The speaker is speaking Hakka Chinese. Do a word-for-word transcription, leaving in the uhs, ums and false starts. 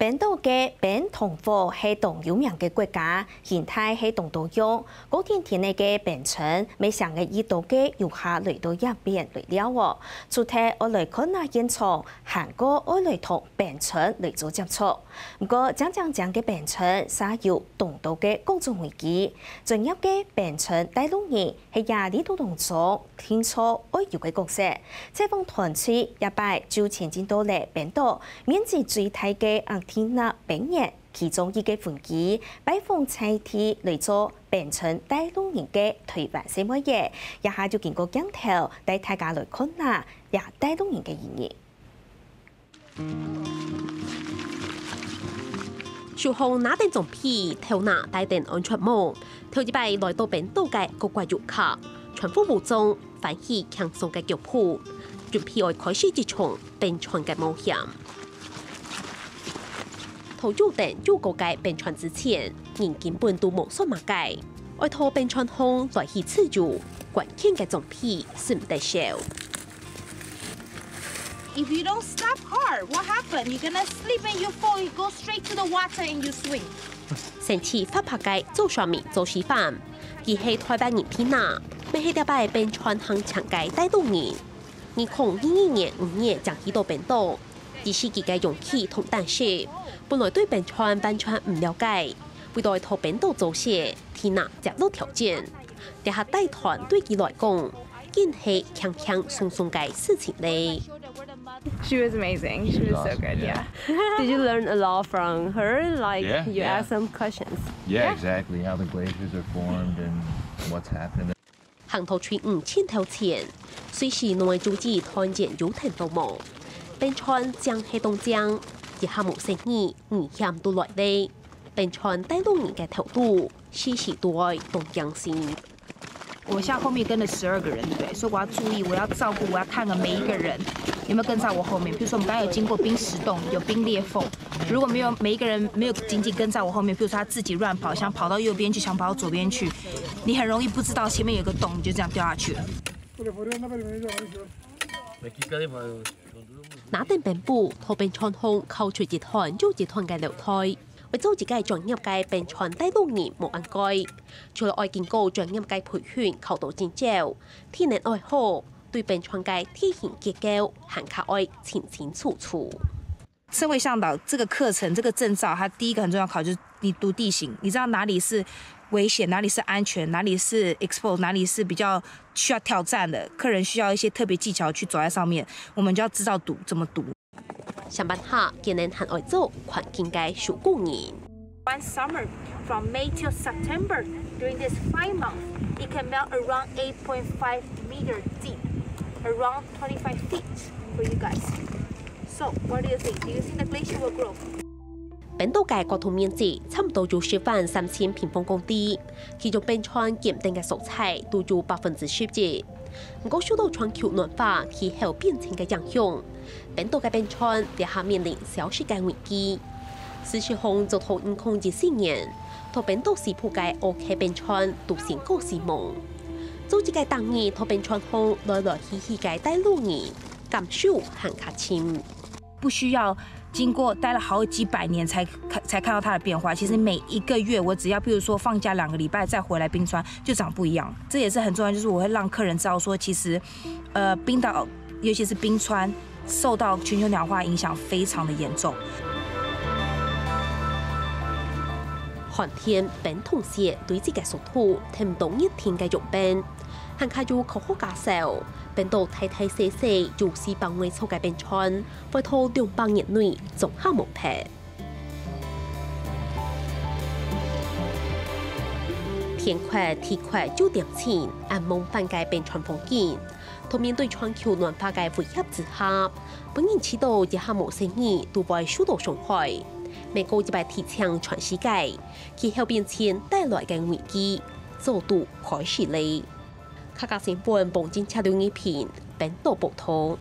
冰島个冰同火係當有名个國家，形態係當多樣，高天天个冰川，乜成日遇到个遊客來到這片來尞哦。除忒愛來看下現場，還過愛來同冰川來做接觸。毋過，靚靚靚个冰川，嗄有當多个各種危機。專業个冰川帶路人 係這旅途當中定著愛有个角色。採訪團隊這擺就前進到了冰島面積最大个阿提納冰原其中一个分區，拜訪在地來做冰川帶路人个臺灣細妹仔，這下就經過鏡頭帶大家來看下這帶路人个意義。 手項拿等裝備，頭那戴等安全帽，頭一擺來到冰島个各國遊客，全副武裝，歡喜輕鬆个腳步，準備愛開始這場冰川个冒險。在有等有高个冰川之前，人根本都無算麼个，愛在冰川項來去自由，關鍵个裝備毋得少。 If you don't stop hard, what happened? You're gonna slip and you fall, you go straight to the water and you swim. 生趣活潑个做說明做示範，佢係臺灣人Tina，乜係這擺冰川行程个帶路人。二零二二年五月正去到冰島，以自家个勇氣同膽識，本來對冰川完全毋了解，為著愛在冰島做事，Tina接落挑戰。這下帶團對佢來講， 緊係輕輕鬆鬆个事情咧。 She was amazing. She was so good. Yeah. Did you learn a lot from her? Like Yeah, you yeah. ask some questions. Yeah, exactly. How the glaciers are formed and what's happened. 行到最五千頭前，隨時攏會注意團員有聽著無。冰川靚係當靚，一下無細義，危險都來咧。冰川帶路人个頭度，時時都愛當驚心。 我像後面跟了十二个人，对不对？所以我要注意，我要照顾，我要看个每一个人有没有跟在我后面。比如说我们刚刚有经过冰石洞，有冰裂缝，如果没有每一个人没有紧紧跟在我后面，比如说他自己乱跑，想跑到右边去，想跑到左边去，你很容易不知道前面有个洞，你就这样掉下去了。拿等冰斧，在冰川項敲出一段又一段个樓梯，愛做一个專業个冰川帶路人無恁該。除了愛經過專業个培訓，考到證照，體能愛好，對冰川个地形結構還較愛清清楚楚。 身为向导，这个课程这个证照，它第一个很重要考就是你读地形，你知道哪里是危险，哪里是安全，哪里是 exposed，哪里是比较需要挑战的，客人需要一些特别技巧去走在上面，我们就要知道读怎么读。上班下，佢等還愛做環境个守護人。 One summer, from May till September, during this five months, it can melt around eight point five meter deep, around twenty-five feet for you guys. So, what do you think? Do you think the glacier will grow? 冰島个國土面積差毋多有十萬三千平方公里，其中冰川減冰个所在都有百分之十一。毋過受到全球暖化、氣候變遷个影響，冰島个冰川這下面臨消失个危機。事實上，早到二零一四年，在冰島西部个奧克冰川都先告死亡。做一个逐日在冰川項來來去去个帶路人，感受還較深。 不需要经过待了好几百年才看才看到它的变化。其实每一个月，我只要比如说放假两个礼拜再回来冰川，就长不一样。这也是很重要，就是我会让客人知道说，其实，呃，冰岛尤其是冰川受到全球暖化影响非常的严重。 寒天冰同雪堆積个速度，添到熱天个融冰。還較有科學家說，冰島大大細細有四百外座个冰川，會到兩百年內總下無忒。天闊地闊就恬靜，恁夢幻个冰川風景，在面對全球暖化个威脅之下，分人試著一下無細義都會受到傷害。美國一擺提醒全世界， 氣候變遷帶來个危機，早都開始咧。客家新聞黃金車六二篇，冰島報導。